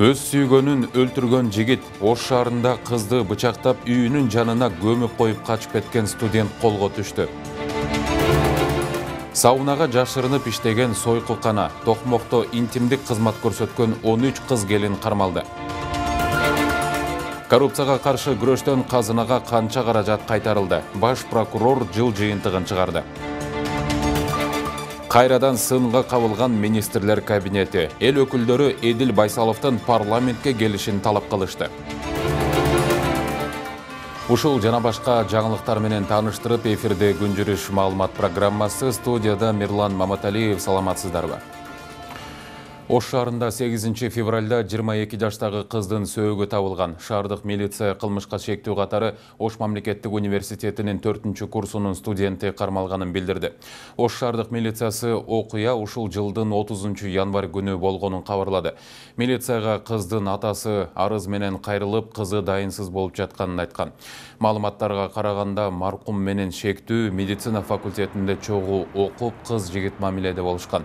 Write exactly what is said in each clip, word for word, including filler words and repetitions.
Өз сүйгөнүн өлтүргөн жигит Ош шаарында кызды бычактап үйүнүн жанына көмүп коюп качып кеткен студент колго түштү. Саунага жашырынып иштеген сойкулкана, Токмокто интимдик кызмат көрсөткөн он үч кыз келин кармалды. Коррупцияга каршы күрөштөн казынага канча каражат кайтарылды? Баш прокурор жыл жыйынтыгын чыгарды. Кайрадан сынга кабылган министрлер кабинети. Эл өкүлдөрү Эдил Байсаловдун парламентке келишин талап кылышты. Ушул жана башка жаңылыктар менен тааныштырып, эфирде күн жүрүш маалымат программасы. Студияда Мирлан Маматалиев. Саламатсыздарбы? Ош шаарында сегизинчи февралда жыйырма эки жаштагы кыздын сөөгү табылган. Шаардык милиция кылмышка шектүү катары Ош мамлекеттик университетинин төртүнчү курсунун студенти кармалганын билдирди. Ош шаардык милициясы окуя ушул жылдын отузунчу январь күнү болгонун кабарлады. Милицияга кыздын атасы арыз менен кайрылып, кызы дайынсыз болуп жатканын айткан. Маалыматтарга караганда, маркум менен шектүү медицина факультетинде чогуу окуп, кыз жигит мамиледе болушкан.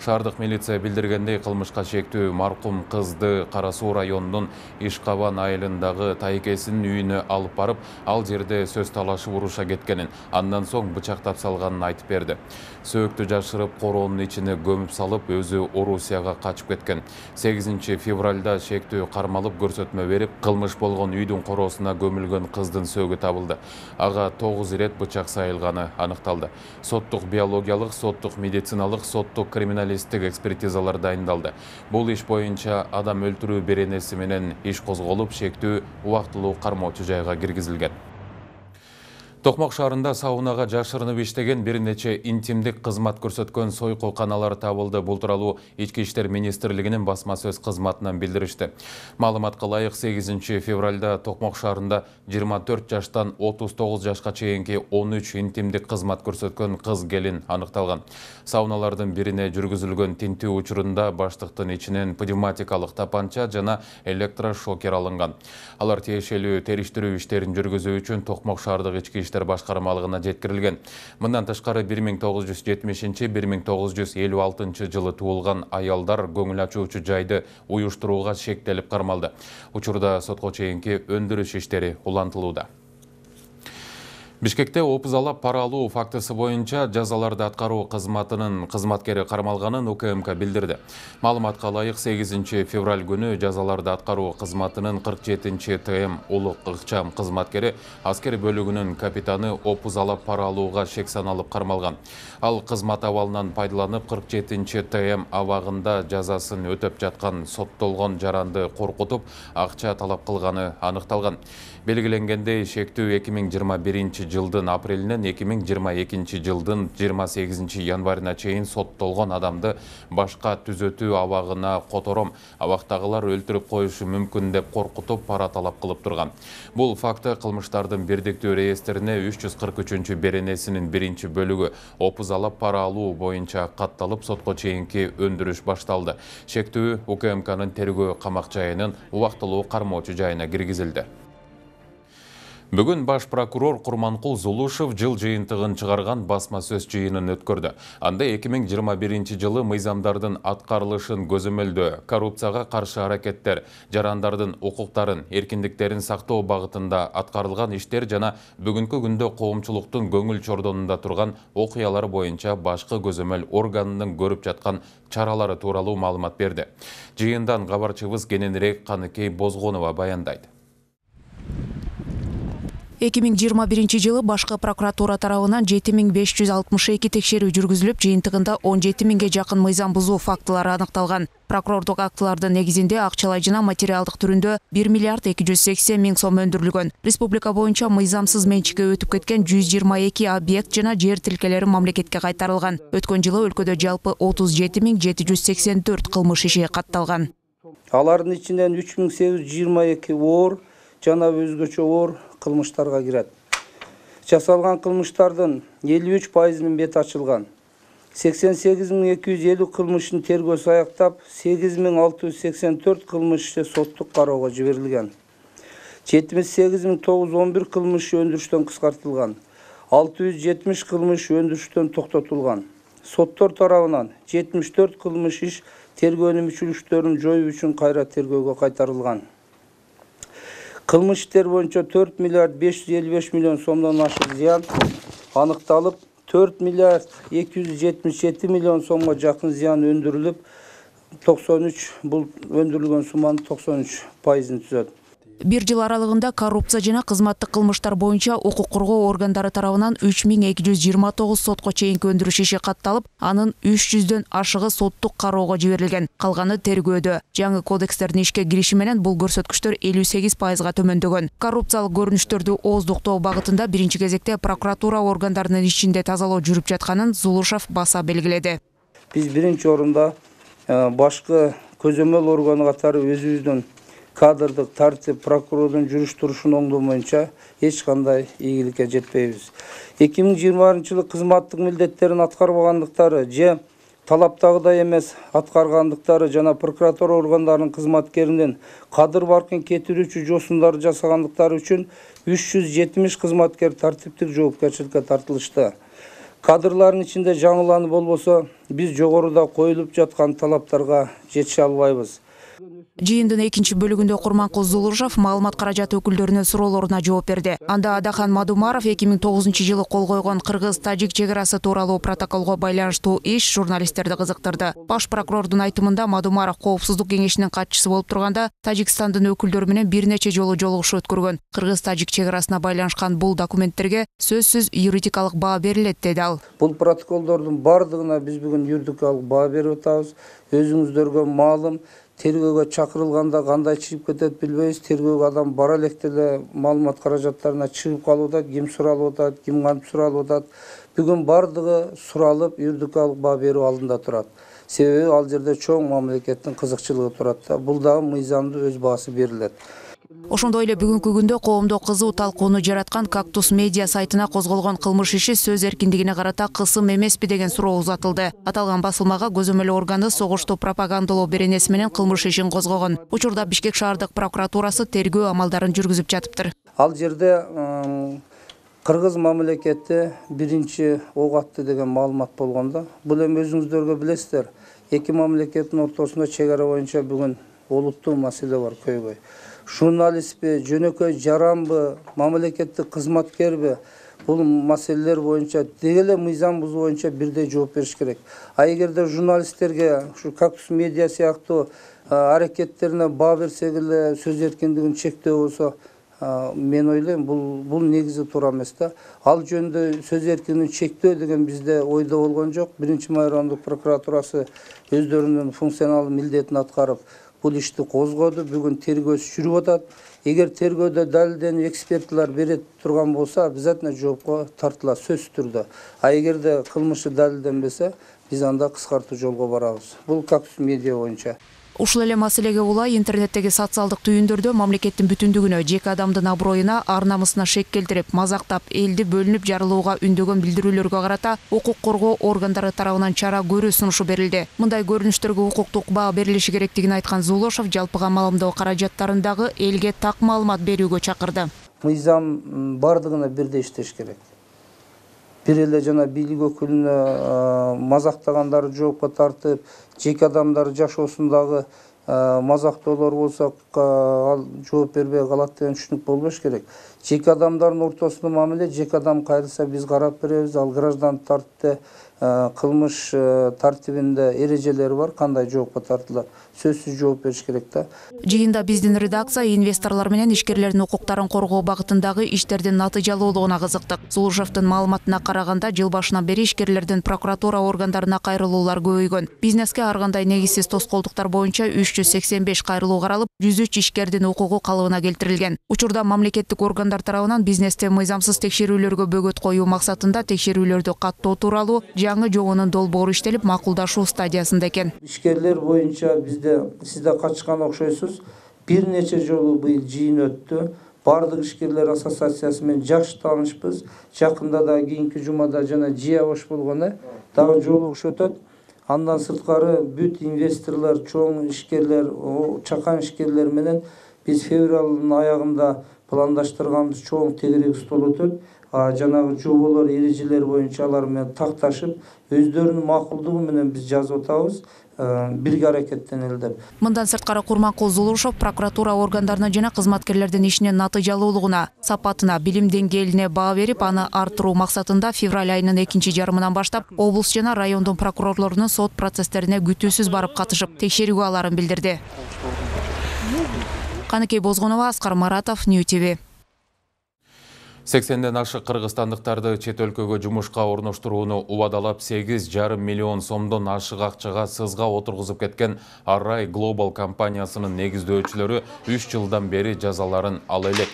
Шаардык милиция билдиргендей, кылмышка шектүү маркум кызды Кара Суу районунун Ишкабан айылындагы тайкесинин үйүнө алып барып, ал жерде сөз талашып уруша кеткенин, андан соң бычактап салганын айтып берди. Сөөктү жашырып, короонун ичине көмүп салып, өзү Орусияга качып кеткен. сегизинчи февралда шектүү кармалып, көрсөтмө берип, кылмыш болгон үйдүн короосуна көмүлгөн кыздын сөөгү табылды. Ага тогуз ирет бычак сайылганы аныкталды. Соттук биологиялык, соттук медициналык, соттук криминалисттик экспертизалар дайындалды. Бул иш боюнча адам өлтүрүү беренеси менен иш козголуп, шектүү убактылуу кармоочу жайга киргизилген. Токмок шаарында саунага жашырынып иштеген бир нече интимдик кызмат көрсөткөн сойкулканалар табылды. Бул тууралуу Ички иштер министрлигинин басма сөз кызматынан билдиришти. Маалыматка ылайык, сегизинчи февралда Токмок шаарында жыйырма төрт жаштан отуз тогуз жашка чейинки он үч интимдик кызмат көрсөткөн кыз келин аныкталган. Сауналардын бирине жүргүзүлгөн тинтүү учурунда баштыктын ичинен пневматикалык тапанча жана электрошокер алынган. Алар тиешелүү териштирүү иштерин жүргүзүү үчүн Токмок шаардык ички иштер башкармалыгына жеткирилген. Мындан тышкары бир миң тогуз жүз жетимишинчи — бир миң тогуз жүз элүү алтынчы жылы туулган аялдар көңүл ачуучу жайды уюштурууга шектелип кармалды. Учурда сотко чейинки өндүрүш иштери улантылууда. Бишкекте опузалап пара алуу фактысы боюнча жазаларды аткаруу кызматынын кызматкери кармалганын УКМК билдирди. Маалыматка ылайык, сегизинчи февраль күнү жазаларды аткаруу кызматынын кырк жетинчи ТМ улук ыкчам кызматкери аскер бөлүгүнүн капитаны опузалап пара алууга шек саналып кармалган. Ал кызмат абалынан пайдаланып, кырк жетинчи ТМ абагында жазасын өтөп жаткан соттолгон жаранды коркутуп, акча талап кылганы аныкталган. Белгиленгендей, шектүү эки миң жыйырма биринчи жылдын апрелинен эки миң жыйырма экинчи жылдын жыйырма сегизинчи январына чейин соттолгон адамды башка түзөтүү абагына котором, абактагылар өлтүрүп коюшу мүмкүн деп коркутуп, пара талап кылып турган. Бул факты кылмыштардын бирдиктүү реестрине үч жүз кырк үчүнчү беренесинин биринчи бөлүгү опузалап пара алуу боюнча катталып, сотко чейинки өндүрүш башталды. Шектүү УКМКнын тергөө камак жайынын убактылуу кармоочу жайына киргизилди. Бүгүн баш прокурор Курманкул Зулушев жыл жыйынтыгын чыгарган басма сөз жыйынын өткөрдү. Анда эки миң жыйырма биринчи жылы мыйзамдардын аткарылышын көзөмөлдөө, коррупцияга каршы аракеттер, жарандардын укуктарын, эркиндиктерин сактоо багытында аткарылган иштер жана бүгүнкү күндө коомчулуктун көңүл чордонунда турган окуялар боюнча башкы көзөмөл органынын көрүп жаткан чаралары тууралуу маалымат берди. Жыйындан кабарчыбыз кененирээк Каныкей Бозгонова баяндайт. эки миң жыйырма биринчи жылы башкы прокуратура тарабынан жети миң беш жүз алтымыш эки текшерүү жүргүзүлүп, жыйынтыгында он жети миңге жакын мыйзам бузуу фактылары аныкталган. Прокурордук актылардын негизинде акчалай жана материалдык түрүндө бир миллиард эки жүз сексен миң сом өндүрүлгөн. Республика боюнча мыйзамсыз менчикке өтүп кеткен жүз жыйырма эки объект жана жер тилкелери мамлекетке кайтарылган. Өткөн жылы өлкөдө жалпы отуз жети миң жети жүз сексен төрт кылмыш иши катталган. Алардын ичинен үч миң сегиз жүз жыйырма эки оор жана өзгөчө оор кылмыштарга кирет. Жасалган кылмыштардын элүү үч пайызынын бети ачылган. сексен сегиз миң эки жүз элүү кылмыштын тергөөсү аяктап, сегиз миң алты жүз сексен төрт кылмыш иши соттук кароого жиберилген. жетимиш сегиз миң тогуз жүз он бир кылмыш өндүрүштөн кыскартылган. алты жүз жетимиш кылмыш өндүрүштөн токтотулган. Соттор тарабынан жетимиш төрт кылмыш иш тергөөнүн мүчүлүктөрүн жоюу үчүн кайра тергөөгө кайтарылган. Кылмыш иштер боюнча төрт миллиард беш жүз элүү беш миллион сомдон ашык зыян аныкталып, төрт миллиард эки жүз жетимиш жети миллион сомго жакын зыян өндүрүлүп, токсон үч бул өндүрүлгөн сумманын токсон үч пайызын түзөт. Бир жыл аралыгында коррупция жана кызматтык кылмыштар боюнча укук коргоо органдары тарабынан үч миң эки жүз жыйырма тогуз сотко чейинки өндүрүш иши катталып, анын үч жүздөн ашыгы соттук кароого жиберилген, калганы тергөөдө. Жаңы кодекстердин ишке кириши менен бул көрсөткүчтөр элүү сегиз пайызга төмөндөгөн. Коррупциялык көрүнүштөрдү ооздуктоо багытында биринчи кезекте прокуратура органдарынын ичинде тазалоо жүрүп жатканын Зулушев баса белгиледи. Биз биринчи орунда башкы көзөмөл органы катары өзүбүздүн кадрдык тартип прокурордун жүрүш турушун оңдоо боюнча эч кандай ийгиликке жетпейбиз. эки миң жыйырманчы жылы кызматтык милдеттерин аткарбагандыктары же талаптагыдай эмес аткаргандыктары жана прокуратура органдарынын кызматкеринин кадыр баркын кетирүүчү жосундарды жасагандыктары үчүн үч жүз жетимиш кызматкер тартиптик жоопкерчиликке тартылышты. Кадрлардын ичинде жаңыланы болбосо, биз жогоруда коюлуп жаткан талаптарга жетише албайбыз. Жыйындын экинчи бөлүгүндө Курманкул Зулушев маалымат каражаты өкүлдөрүнүн суроолоруна жооп берди. Анда Адахан Мадумаров эки миң тогузунчу жылы кол койгон кыргыз-тажик чек арасы тууралуу протоколго байланыштуу иш журналисттерди кызыктырды. Баш прокурордун айтымында Мадумаров коопсуздук кеңешинин катчысы болуп турганда Тажикстандын өкүлдөрү менен бир нече жолу жолугушуу өткөргөн. Кыргыз-тажик чек арасына байланышкан бул документтерге сөзсүз юридикалык баа берилет, деди ал. Бул протоколдордун бардыгына биз бүгүн юридикалык баа берип атабыз. Өзүңүздөргө маалым, тергөөгө чакырылганда кандай чыгып кетет билбейбиз. Тергөөгө адам бара электе эле маалымат каражаттарына чыгып калып атат, ким суралып атат, ким кантип суралып атат. Бүгүн бардыгы суралып, юридикалык баа берүү алдында турат. Себеби ал жерде чоң мамлекеттин кызыкчылыгы турат да. Бул дагы мыйзамдуу өз баасы берилет. Ошондой эле бүгүнкү күндө коомдо кызуу талкууну жараткан Кактус медиа сайтына козголгон кылмыш иши сөз эркиндигине карата кысым эмеспи деген суроо узатылды. Аталган басылмага көзөмөл органы согушту пропагандалоо беренеси менен кылмыш ишин козгогон. Учурда Бишкек шаардык прокуратурасы тергөө амалдарын жүргүзүп жатыптыр. Ал жерде кыргыз мамлекети биринчи ок атты деген маалымат болгондо, бул эми өзүңүздөргө билесиздер, эки мамлекеттин ортосунда чек ара боюнча бүгүн олуттуу маселе бар, көйгөй. Журналистпи, жөнөкөй жаранбы, мамлекеттик кызматкерби, бул маселелер боюнча дегеле мыйзам бузуу боюнча бирдей жооп бериш керек. А эгерде журналисттерге ушу Кактус медиа сыяктуу аракеттерине баа берсек эле сөз эркиндигин чектөө болсо, мен ойлойм, бул бул негизи туура эмес да. Ал жөнүндө сөз эркиндигин чектөө деген бизде ойдо болгон жок. Биринчи майрамдык прокуратурасы өздөрүнүн функционалдык милдетин аткарып, бул ишти козгоду. Бүгүн тергөөсү жүрүп атат. Эгер тергөөдө далилденип экспертилер бере турган болсо, обязательно жоопко тартылат сөзсүз түрдө. А эгерде кылмышы далилденбесе, биз анда кыскартуу жолго барабыз. Бул Кактус медиа боюнча. Ушул эле маселеге улай интернеттеги социалдык түйүндөрдө мамлекеттин бүтүндүгүнө, жеке адамдын аброюна, ар намысына шек келтирип, мазактап, элди бөлүнүп жарылууга үндөгөн билдирүүлөргө карата укук коргоо органдары тарабынан чара көрүү сунушу берилди. Мындай көрүнүштөргө укуктук баа берилиши керектигин айткан Зулушев жалпыга маалымдоо каражаттарындагы элге так маалымат берүүгө чакырды. Мыйзам бардыгына бирдей иштеш керек. Бир эле жана бийлик өкүлүнө мазактагандарды жоопко тартып, жеке адамдар жашоосундагы мазактоолор болсо ал жооп бербей калат деген түшүнүк болбош керек. Жеке адамдардын ортосунда мамиле, жеке адам кайрылса биз карап беребиз. Ал граждан тартипте кылмыш тартибинде эрежелери бар, кандай жоопко тартылат. Сөзсүз жооп бериш керек да. Жыйында биздин редакция инвесторлор менен ишкерлердин укуктарын коргоо багытындагы иштердин натыйжалуулугуна кызыктык. Зулушевдин маалыматына караганда, жыл башынан бери ишкерлердин прокуратура органдарына кайрылуулар көбөйгөн. Бизнеске ар кандай негизсиз тоскоолдуктар боюнча үч жүз сексен беш кайрылуу каралып, жүз үч ишкердин укугу калыбына келтирилген. Учурда мамлекеттик органдар тарабынан бизнесте мыйзамсыз текшерүүлөргө бөгөт коюу максатында текшерүүлөрдү каттоо тууралуу жаңы жобонун долбоору иштелип, макулдашуу стадиясында экен. Ишкерлер боюнча бизде сизде качкан окшойсуз. Бир нече жолу быйыл жыйын өттү. бардык ишкерлер ассоциациясы менен жакшы таанышпыз. Жакында да кийинки жумада жана жыя бош болгону дагы жолугуш өтөт. Андан сырткары бүт инвесторлор, чоң ишкерлер, чакан ишкерлер менен биз февралдын аягында пландаштырганыбыз чоң тегерек стол өтөт. Жанагы жоболор, эрежелер боюнча алар менен такташып, өздөрүнүн макулдугу менен биз жазып атабыз. Бирге аракеттенели деп. Мындан сырткары Курманкул Зулушов прокуратура органдарына жана кызматкерлердин ишинин натыйжалуулугуна, сапатына, билим деңгээлине баа берип, аны арттыруу максатында февраль айынын экинчи жарымынан баштап облус жана райондун прокурорлорунун сот процесстерине күтүүсүз барып катышып, текшерүүгө аларын билдирди. Каныкей Бозгонова, Аскар Маратов, Нью ти ви. сексенден ашык кыргызстандыктарды чет өлкөгө жумушка орноштурууну убадалап сегиз жарым миллион сомдон ашык акчага сызга отургузуп кеткен Array Global компаниясынын негиздөөчүлөрү үч жылдан бери жазаларын ала элек.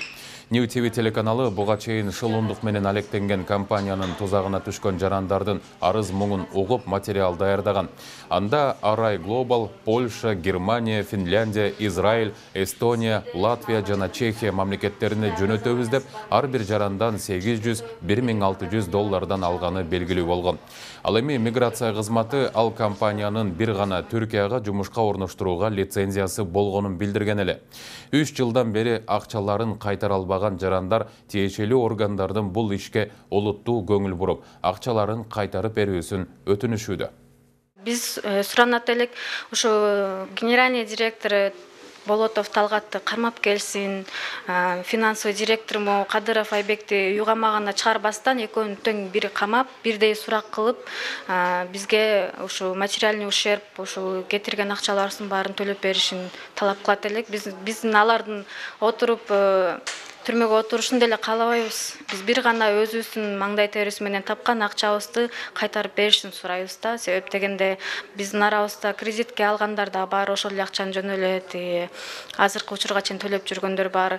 Нью ти ви телеканалы буга чейин шылуундук менен алектенген компаниянын тузагына түшкөн жарандардын арыз муңун угуп материал даярдаган. Анда Array Global Польша, Германия, Финляндия, Израиль, Эстония, Латвия жана Чехия мамлекеттерине жөнөтөбүз деп ар бир жарандан сегиз жүз бир миң алты жүз доллардан алганы белгилүү болгон. Ал эми миграция кызматы ал компаниянын бир гана Түркияга жумушка орноштурууга лицензиясы болгонун билдирген эле. үч жылдан бери акчаларын кайтара албаган жарандар тиешелүү органдардын бул ишке олуттуу көңүл буруп, акчаларын кайтарып берүүсүн өтүнүшүүдө. Биз суранат элек ошо генеральный директору Болотов Талгатты кармап келсин, финансовый директору Кадыров Айбекти уйгамагана чыгарбастан экөөнүн тең бири камап, бирдей сурак кылып, бизге ошо материальный ущерб, ошо кетирген акчаларыбыздын баарын төлөп беришин талап кылат элек. Биз биздин алардын отуруп түрмөгө отурушун деле каалабайбыз. Биз бир гана өзүбүздүн маңдай терибиз менен тапкан акчабызды кайтарып беришин сурайбыз да. Себеп дегенде биздин арабызда кредитке алгандар да бар, ошол эле акчаны жөнө эле азыркы учурга чейин төлөп жүргөндөр бар.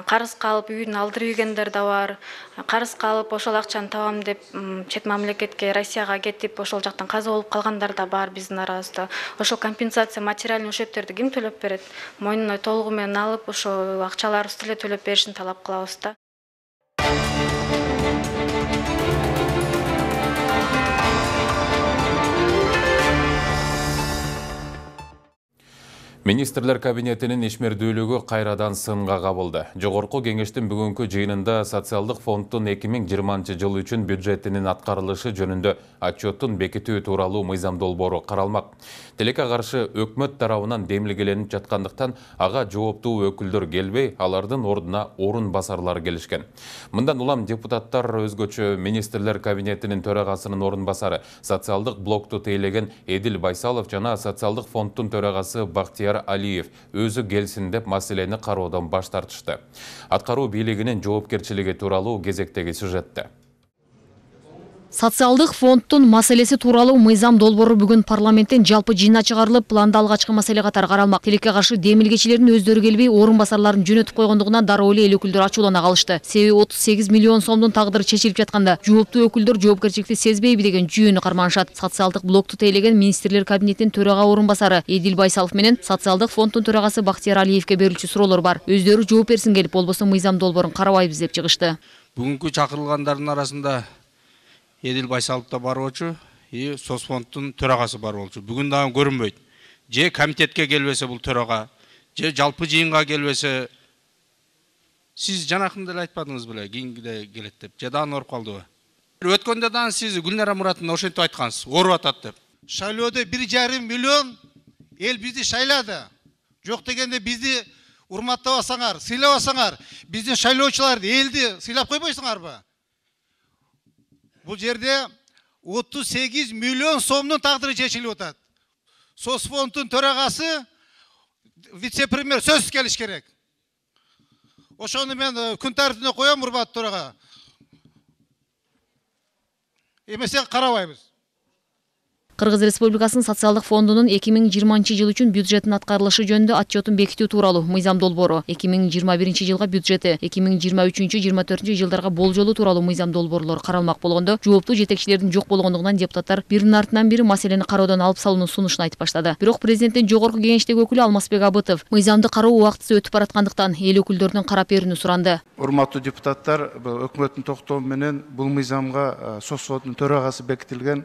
Карызга алып үйүн алдырып ийгендер да бар. Карызга алып ошол акчаны табам деп чет мамлекетке, Россияга кетип, ошол жактан каза болуп калгандар да бар биздин арабызда. Ошол компенсация, материальный ущербтерди ким төлөп берет? Мойнуна толугу менен алып, ошо акчаларыбызды эле төлөп беришин талап кылабыз да. Министрлер кабинетинин ишмердүүлүгү кайрадан сынга кабылды. Жогорку кеңештин бүгүнкү жыйынында социалдык фонддун эки миң жыйырманчы жыл үчүн бюджетинин аткарылышы жөнүндө отчеттун бекитүү тууралуу мыйзам долбоору каралмак. Тилекке каршы өкмөт тарабынан демилгеленип жаткандыктан ага жооптуу өкүлдөр келбей, алардын ордуна орун басарлар келишкен. Мындан улам депутаттар өзгөчө министрлер кабинетинин төрагасынын орун басары, социалдык блокту тейлеген Эдил Байсалов жана социалдык фонддун төрагасы Бактияр Алиев өзү келсин деп маселени кароодон баш тартышты. Аткаруу бийлигинин жоопкерчилиги тууралуу кезектеги сюжетте. Социалдык фонддун маселеси тууралуу мыйзам долбоору бүгүн парламенттен жалпы жыйына чыгарылып, планда алгачкы маселе катары каралмак. Тилекке каршы демилгечилердин өздөрү келбей, орун басарларын жөнөтүп койгондугунан дароо эле эл өкүлдөр ачуулана калышты. Себеби отуз сегиз миллион сомдун тагдыры чечилип жатканда, жооптуу өкүлдөр жоопкерчиликти сезбейби деген жүйөнү карманышат. Социалдык блокту тейлеген министрлер кабинетинин төрага орун басары Эдил Байсалов менен социалдык фонддун төрагасы Бактияр Алиевке берилчү суроолор бар. Өздөрү жооп берсин келип, болбосо мыйзам долбоорун карабайбыз деп чыгышты. Бүгүнкү чакырылгандардын арасында Эдил Байсалов да бар болчу, и соцфонддун төрагасы бар болчу. Бүгүн дагы көрүнбөйт. Же комитетке келбесе бул төрага, же жалпы жыйынга келбесе, сиз жанакында эле айтпадыңыз беле, кийинкиде келет деп. Же дагы оруп калдыбы? Өткөндө дагы сиз Гүлнара Муратовна ошентип айткансыз, оруп атат деп. Шайлоодо бир жарым миллион эл бизди шайлады. Жок дегенде бизди урматтабасаңар, сыйлабасаңар, биздин шайлоочуларды элди сыйлап койбойсуңарбы? Бул жерде отуз сегиз миллион сомдун тагдыры чечилип атат. Соцфонддун төрагасы, вице-премьер сөзсүз келиш керек. Ошону мен күн тартибине коем, урматтуу төрага. Эмесе карабайбыз. Кыргыз Республикасынын социалдык фондунун эки миң жыйырманчы жыл үчүн бюджеттин аткарылышы жөнүндө отчетун бекитүү тууралуу мыйзам долбоору, эки миң жыйырма биринчи жылга бюджети, эки миң жыйырма үчүнчү жыйырма төртүнчү жылдарга болжолу тууралуу мыйзам долбоорлор каралмак болгондо, жооптуу жетекчилердин жок болгондугунан депутаттар биринин артынан бири маселени кароодон алып салуунун сунушун айтып баштады. Бирок президенттин жогорку кеңештеги өкүлү Алмазбек Абытов мыйзамды кароо убактысы өтүп бараткандыктан эл өкүлдөрүнөн карап берүүнү суранды. Урматтуу депутаттар, өкмөттүн токтому менен бул мыйзамга соцфонддун төрагасы бекитилген.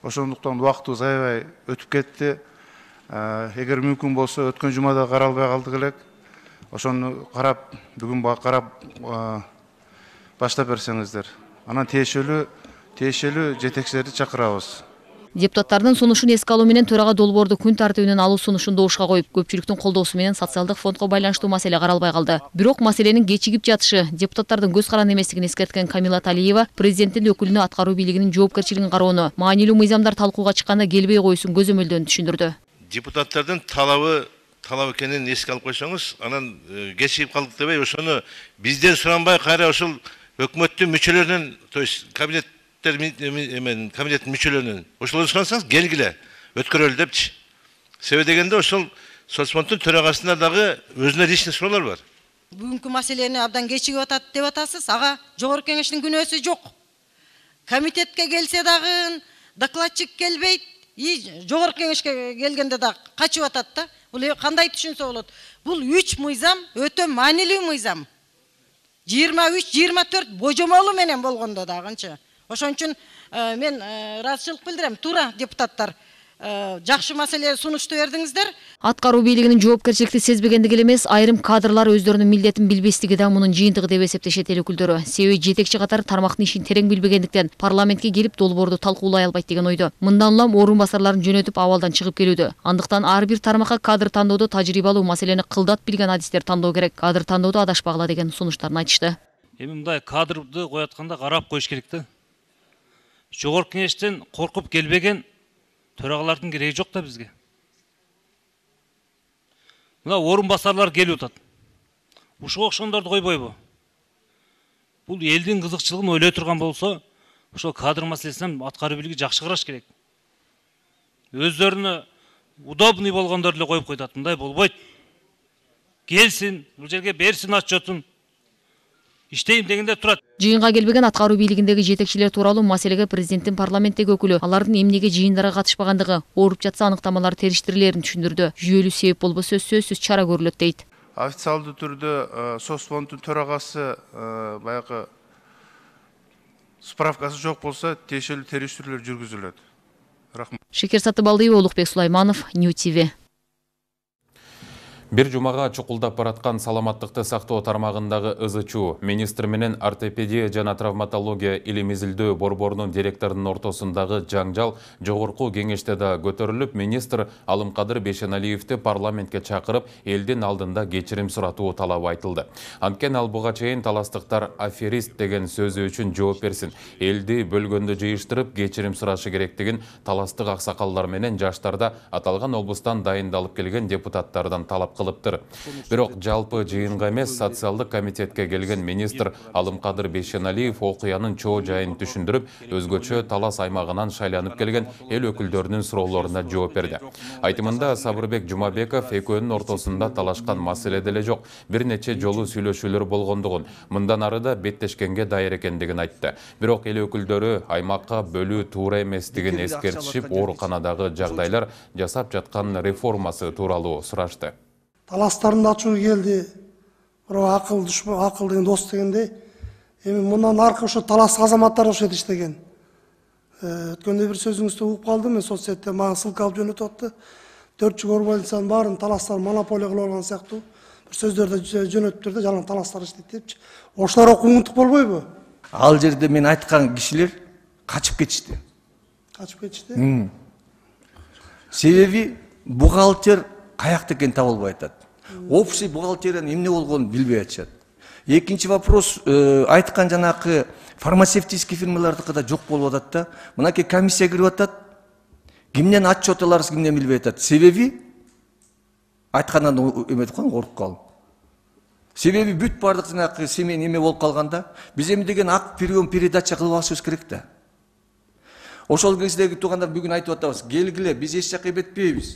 Ошондуктан убактыбыз аябай өтүп кетти. Эгер мүмкүн болсо өткөн жумада каралбай калдык элек. Ошону карап, бүгүн карап баштап берсеңиздер. Анан тиешелүү тиешелүү жетекчилерди чакырабыз. Депутаттардын сунушун эске алуу менен төрага долбоорду күн тартибинен алуу сунушун добушка коюп, көпчүлүктүн колдоосу менен социалдык фондго байланыштуу маселе каралбай калды. Бирок маселенин кечигип жатышы депутаттардын көз каранды эместигин эскерткен Камила Талиева президенттин өкүлүнө аткаруу бийлигинин жоопкерчилигин кароону, маанилүү мыйзамдар талкууга чыкканда келбей коюусун көзөмөлдөөн түшүндүрдү. Депутаттардын талабы талап экенин эске алып койсоңуз, анан кечигип калдык дебей, ошону бизден суранбай кайра ошол өкмөттүн мүчөлөрүнөн, то есть кабинет комитеттин мүчөлөрүнөн ошолордон сурансаңыз келгиле өткөрөлү депчи. Себеби дегенде ошол соцфонддун төрагасында дагы өзүнө личный суроолор бар. Бүгүнкү маселени абдан кечигип атат деп атасыз. Ага жогорку кеңештин күнөөсү жок. Комитетке келсе дагы докладчик келбейт, и жогорку кеңешке келгенде да качып атат да. Бул кандай түшүнсө болот? Бул үч мыйзам өтө маанилүү мыйзам. жыйырма үч жыйырма төрт божомолу менен болгондо дагынчы. Ошон үчүн мен ыраазычылык билдирем. Туура депутаттар жакшы маселе сунушту бердиңиздер. Аткаруу бийлигинин жоопкерчиликти сезбегендиги эле эмес, айрым кадрлар өздөрүнүн милдетин билбестиги да мунун жыйынтыгы деп эсептешет эл өкүлдөрү. Себеби жетекчи катары тармактын ишин терең билбегендиктен парламентке келип долбоорду талкуулай албайт деген ойдо. Мындан улам орун басарларын жөнөтүп абалдан чыгып келүүдө. Андыктан ар бир тармакка кадр тандоодо тажрыйбалуу, маселени кылдат билген адистер тандоо керек. Кадр тандоодо адашпагыла деген сунуштарын айтышты. Эми мындай кадрды коятканда карап коюш керек да. Жогорку кеңештен коркуп келбеген төрагалардын кереги жок да бизге. Мына орун басарлар келип атат. Ушуга окшондорду койбойбу? Бул элдин кызыкчылыгын ойлой турган болсо, ошол кадр маселесинен аткаруу бийлиги жакшы караш керек. Өздөрүнө удобный болгондорду эле коюп койтат. Мындай болбойт. Келсин, бул жерге берсин отчетун. Иштейм дегенде турат. Жыйынга келбеген аткаруу бийлигиндеги жетекчилер тууралуу маселеге президенттин парламенттеги өкүлү алардын эмнеге жыйындарга катышпагандыгы, ооруп жатса аныктамалар териштирилерин түшүндүрдү. Жүйөлүү себеп болбосо сөзсүз чара көрүлөт дейт. Официалдуу түрдө соцфонддун төрагасы баягы справкасы жок болсо, тиешелүү териштирүүлөр жүргүзүлөт. Рахмат. Шекер Сатыбалдиева, Улукбек Сулайманов, Нью ти ви. Бир жумага чукулдап бараткан саламаттыкты сактоо тармагындагы ызычуу министр менен ортопедия жана травматология илим изилдөө борборунун директорунун ортосундагы жаңжал жогорку кеңеште да көтөрүлүп, министр Алымкадыр Бейшеналиевди парламентке чакырып, элдин алдында кечирим суратуу талабы айтылды. Анткени ал буга чейин таластыктар аферист деген сөзү үчүн жооп берсин, элди бөлгөндө жыйыштырып кечирим сурашы керектигин таластык аксакалдар менен жаштарда аталган облустан дайындалып келген депутаттардан талап кылыптыр. Бирок жалпы жыйынга эмес, социалдык комитетке келген министр Алымкадыр Бейшеналиев окуянын чоо жайын түшүндүрүп, өзгөчө талас аймагынан шайланып келген эл өкүлдөрүнүн суроолоруна жооп берди. Айтымында Сабырбек Жумабеков экөөнүн ортосунда талашкан маселе деле жок, бир нече жолу сүйлөшүүлөр болгондугун, мындан ары да беттешкенге дайыр экендигин айтты. Бирок эл өкүлдөрү аймакка бөлүү туура эместигин эскертишип, ооруканадагы жагдайлар жасап жаткан реформасы тууралуу сурашты. Таластарын ачуу келди, бирок акыл душман, акыл деген дос дегендей, эми мындан аркы ошо талас азаматтар ошо иштеген. Өткөндө бир сөзүңүздү угуп калдым, мен соцсетте мага ссылка алып жөнөтүп атты. Төрт жыл больницанын баарын таластар монополия кылып алган сыяктуу бир сөздөрдү жөнөтүптүр да, жалаң таластар иштейт депчи. Ошолор окуңдук болбойбу? Ал жерде мен айткан кишилер качып кетишти. Качып кетишти? Себеби бухгалтер каякта экенин таба албай атат. Общий бухгалтериянын эмне болгонун билбей атышат. Экинчи вопрос, айткан жанакы фармацевтический фирмалардыкы да жок болуп атат да. Мынакей комиссия кирип атат. Кимден отчет аларыз, кимден билбей атат. Себеби айткандан эметип калган, коркуп калдым. Себеби бүт бардык жанакы семей эме болуп калганда, биз эми деген ак прием передача кылып алышыбыз керек да. Ошол кездеги туугандар бүгүн айтып атабыз, келгиле, биз эч жакка эбетпейбиз.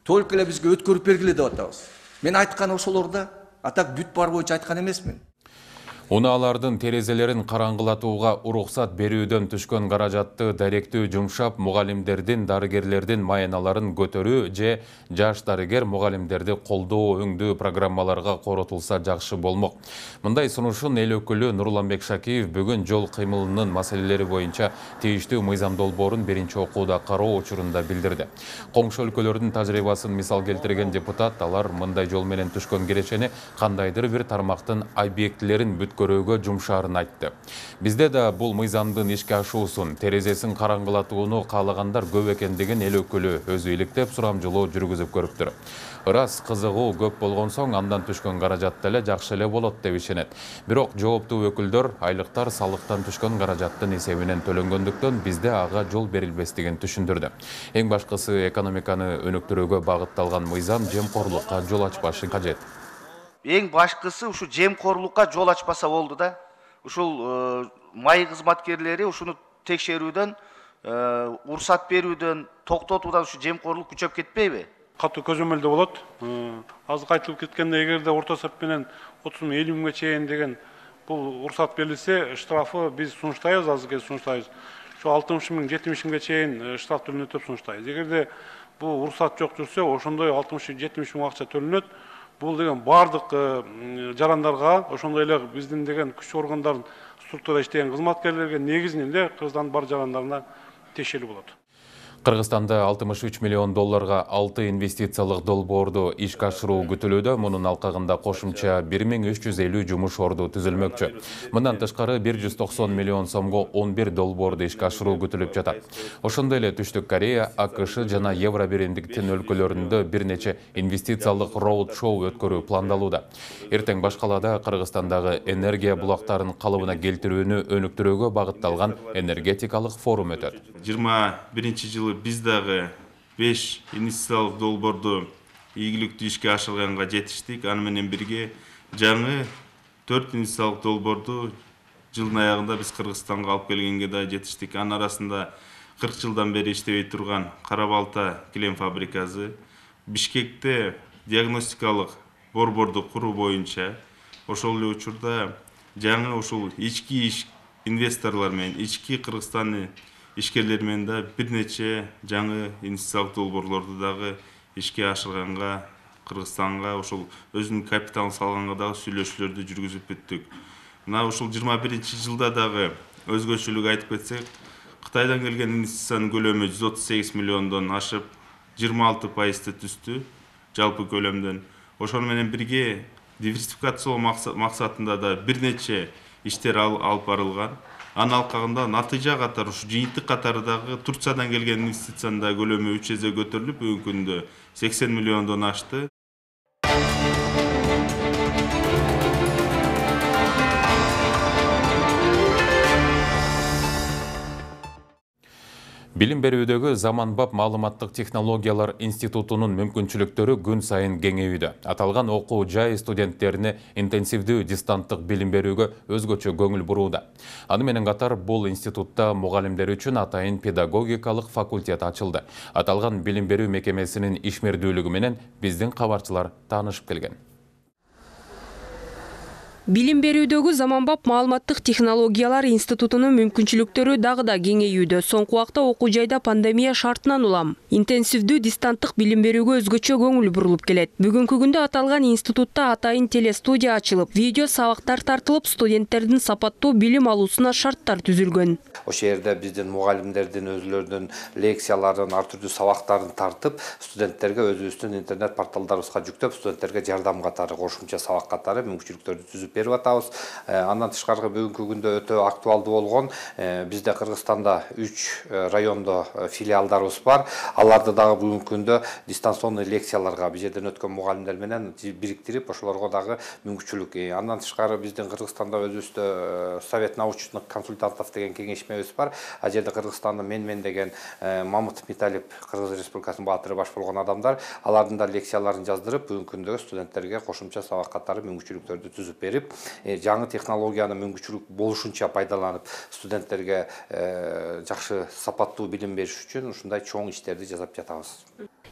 Толук эле бизге өткөрүп бергиле деп атабыз. Мен айткан ошолор да, а так бүт бар боюнча айткан эмесмин. Унаалардын терезелерин караңгылатууга уруксат берүүдөн түшкөн каражатты даректүү жумшап, мугалимдердин, дарыгерлердин майаналарын көтөрүү же жаш дарыгер мугалимдерди колдоо өңдүү программаларга коротулса жакшы болмок. Мындай сунушун эл өкүлү Нурланбек Шакиев бүгүн жол кыймылынын маселелери боюнча тийиштүү мыйзам долбоорун биринчи окууда кароо учурунда билдирди. Коңшу өлкөлөрдүн тажрыйбасын мисал келтирген депутат, алар мындай жол менен түшкөн кирешени кандайдыр бир тармактын объектилерин көрүүгө жумшаарын айтты. Бизде да бул мыйзамдын ишке ашуусун, терезесин караңгылатууну каалагандар көп экендигин эл өкүлү өзү иликтеп сурамжылоо жүргүзүп көрүптүр. Ырас кызыгуу көп болгон соң андан түшкөн каражат деле жакшы эле болот деп ишенет. Бирок жооптуу өкүлдөр айлыктар салыктан түшкөн каражаттын эсебинен төлөнгөндүктөн бизде ага жол берилбестигин түшүндүрдү. Эң башкысы экономиканы өнүктүрүүгө багытталган мыйзам жемкорлукка жол ачпашы кажет. Эң башкысы ушу жемкорлукка жол ачпаса болду да. Ушул май кызматкерлери ушуну текшерүүдөн, уруксат берүүдөн, токтотуудан ушу жемкорлук күчөп кетпейби? Катуу көзөмөлдө болот. Азыр айтылып кеткендей, эгерде орто эсеп менен отуз миң элүү миңге чейин деген бул уруксат берилсе, штрафы биз сунуштайбыз, азыркы сунуштайбыз. Ошо алтымыш миң, жетимиш миңге чейин штраф төлөнөт деп сунуштайбыз. Эгерде бул уруксат жок жүрсө, ошондой алтымыш жетимиш миң акча төлөнөт. Бул деген бардык жарандарга, ошондой эле биздин деген күч органдардын структурада иштеген кызматкерлерге негизинен эле Кыргызстандын бар жарандарына тиешелүү болот. Кыргызстанда алтымыш үч миллион долларга алты инвестициялык долбоорду ишке ашыруу күтүлүүдө. Мунун алкагында кошумча бир миң үч жүз элүү жумуш орду түзүлмөкчү. Мындан тышкары бир жүз токсон миллион сомго он бир долбоорду ишке ашыруу күтүлүп жатат. Ошондой эле Түштүк Корея, АКШ жана Евро биримдиктин өлкөлөрүндө бир нече инвестициялык роуд-шоу өткөрүү пландалууда. Эртең башкалада Кыргызстандагы энергия булактарын калыбына келтирүүнү өнүктүрүүгө багытталган энергетикалык форум өтөт. жыйырма биринчи жылы биз дагы беш инвестициялык долбоорду ийгиликтүү ишке ашырганга жетиштик. Аны менен бирге жаңы төрт инвестициялык долбоорду жылдын аягында биз Кыргызстанга алып келгенге да жетиштик. Анын арасында кырк жылдан бери иштебей турган Кара Балта килем фабрикасы, Бишкекте диагностикалык борборду куруу боюнча, ошол эле учурда жаңы ушул ички иш инвесторлор менен, ички Кыргызстандын ишкерлер менен да бир нече жаңы инвестициялык долбоорлорду дагы ишке ашырганга, Кыргызстанга ошол өзүнүн капиталын салганга дагы сүйлөшүүлөрдү жүргүзүп бүттүк. Мына ушул жыйырма биринчи жылда дагы өзгөчөлүк айтып кетсек, Кытайдан келген инвестициянын көлөмү жүз отуз сегиз миллиондон ашып, жыйырма алты пайызды түздү жалпы көлөмдөн. Ошону менен бирге диверсификациялоо максатында да бир нече иштер алып барылган. Анын алкагында натыйжа катары, ушу жыйынтык катары дагы Турциядан келген инвестициянын да көлөмү үч эсе көтөрүлүп, бүгүнкү күндө сексен миллиондон ашты. Билим берүүдөгү заманбап маалыматтык технологиялар институтунун мүмкүнчүлүктөрү күн сайын кеңейүүдө. Аталган окуу жай студенттерине интенсивдүү дистанттык билим берүүгө өзгөчө көңүл бурууда. Аны менен катар бул институтта мугалимдер үчүн атайын педагогикалык факультет ачылды. Аталган билим берүү мекемесинин ишмердүүлүгү менен биздин кабарчылар таанышып келген. Билим берүүдөгү заманбап маалыматтык технологиялар институтунун мүмкүнчүлүктөрү дагы да кеңейүүдө. Соңку убакта окуу жайда пандемия шартынан улам интенсивдүү дистанттык билим берүүгө өзгөчө көңүл бурулуп келет. Бүгүнкү күндө аталган институтта атайын телестудия ачылып, видео сабактар тартылып, студенттердин сапаттуу билим алуусуна шарттар түзүлгөн. Ошол жерде биздин мугалимдердин өзүлөрүнүн лекцияларын, ар түрдүү сабактарын тартып, студенттерге өзүбүздүн интернет порталдарыбызга жүктөп, студенттерге жардам катары, кошумча сабак катары мүмкүнчүлүктөрдү түзүп берип атабыз. Андан тышкары бүгүнкү күндө өтө актуалдуу болгон, бизде Кыргызстанда үч райондо филиалдарыбыз бар. Аларды дагы бүгүнкү күндө дистанционный лекцияларга биз жерден өткөн мугалимдер менен бириктирип, ошолорго дагы мүмкүнчүлүк. Андан тышкары биздин Кыргызстанда өзүбүздө Совет научных консультантов деген кеңешмебиз бар. А жерде Кыргызстанда мен-мен деген Мамытов Металип, Кыргыз Республикасынын баатыры баш болгон адамдар, алардын да лекцияларын жаздырып, бүгүнкү күндө студенттерге кошумча сабак катары мүмкүнчүлүктөрдү түзүп берип, коюп, жаңы технологияны мүмкүнчүлүк болушунча пайдаланып, студенттерге жакшы сапаттуу билим бериш үчүн ушундай чоң иштерди жасап жатабыз.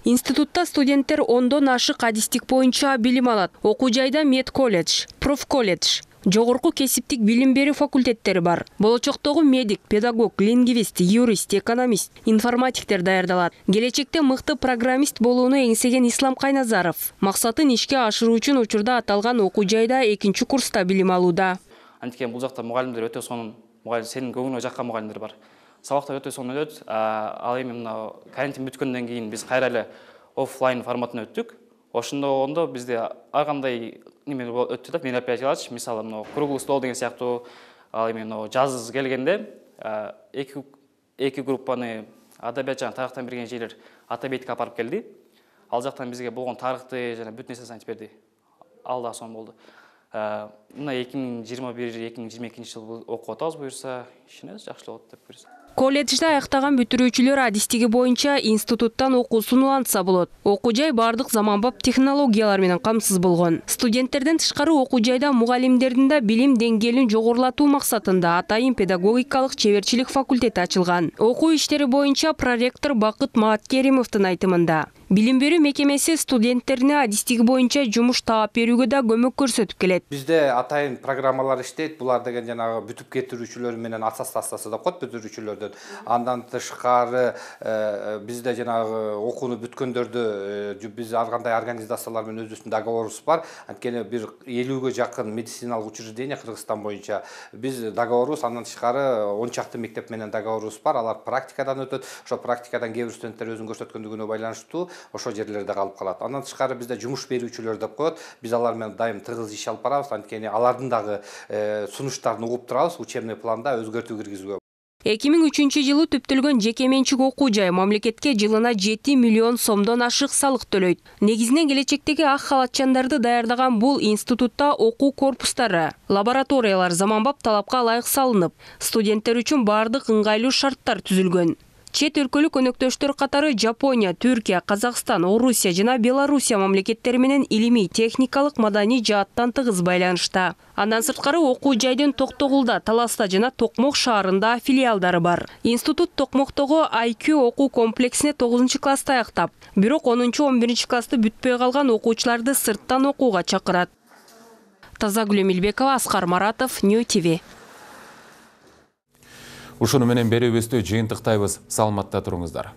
Институтта студенттер ондон ашык адистик боюнча билим алат. Окуу жайда мед колледж, проф колледж, жогорку кесиптик билим берүү факультеттери бар. Болочоктогу медик, педагог, лингвист, юрист, экономист, информатиктер даярдалат. Келечекте мыкты программист болууну эңсеген Ислам Кайназаров максатын ишке ашыруу үчүн учурда аталган окуу жайда экинчи курста билим алууда. Анткени бул жакта мугалимдер өтө сонун, мугалим сенин көңүлүңө жаккан мугалимдер бар. Сабактар өтө сонун өтөт. Ал эми мына карантин бүткөндөн кийин биз кайра эле оффлайн форматына өттүк. Ошондо ондо бизде ар кандай неме өттү да, мероприятиялар, мисалы мына круглый стол деген сыяктуу, ал эми мына жаз келгенде эки эки группаны адабият жана тарыхтан берген жерлер Атабейтке апарып келди. Ал жактан бизге болгон тарыхты жана бүт нерсесин айтып берди. Ал да сонун болду. Мына эки миң жыйырма бир эки миң жыйырма экинчи жылы окуп атабыз буюрса, ишенебиз жакшы болот деп буюрса. Колледжде аяктаган бүтүрүүчүлөр адистиги боюнча институттан окуусун улантса болот. Окуу жай бардык заманбап технологиялар менен камсыз болгон. Студенттерден тышкары окуу жайда мугалимдердин да билим деңгээлин жогорулатуу максатында атайын педагогикалык чеберчилик факультети ачылган. Окуу иштери боюнча проректор Бакыт Мааткеримовдун айтымында билим берүү мекемеси студенттерине адистиги боюнча жумуш таап берүүгө да көмөк көрсөтүп келет. Бизде атайын программалар иштейт. Булар деген жанагы бүтүп кетирүүчүлөр менен аттестация деп коет бүтүрүүчүлөрдөн. Андан тышкары бизде жанагы окууну бүткөндөрдү биз ар кандай организациялар менен өзүбүздүн договорубуз бар. Анткени бир элүүгө жакын медициналык учреждение Кыргызстан боюнча биз договорубуз, андан тышкары он чакты мектеп менен договорубуз бар. Алар практикадан өтөт. Ошо практикадан кээ бир студенттер өзүн көрсөткөндүгүнө байланыштуу ошо жерлерде калып калат. Андан тышкары бизде жумуш берүүчүлөр деп коет. Биз алар менен дайым тыгыз иш алып барабыз. Анткени алардын дагы сунуштарын угуп турабыз, учебный планда өзгөртүү киргизүүгө. эки миң үчүнчү жылы түптөлгөн жеке менчик окуу жай мамлекетке жылына жети миллион сомдон ашык салык төлөйт. Негизинен келечектеги ак халатчандарды даярдаган бул институтта окуу корпустары, лабораториялар заманбап талапка ылайык салынып, студенттер үчүн бардык ыңгайлуу шарттар түзүлгөн. Чет өлкөлүк өнөктөштөр катары Жапония, Түркия, Казакстан, Орусия жана Белоруссия мамлекеттери менен илимий, техникалык, маданий жааттан тыгыз байланышта. Андан сырткары окуу жайдын Токтогулда, Таласта жана Токмок шаарында филиалдары бар. Институт Токмоктогу ай кью окуу комплексине тогузунчу класста аяктап, бирок онунчу он биринчи классты бүтпөй калган окуучуларды сырттан окууга чакырат. Тазагүл Эмилбекова, Аскар Маратов, Нью ти ви. Ушуну менен берүүбүздү жыйынтыктайбыз. Саламатта туруңуздар.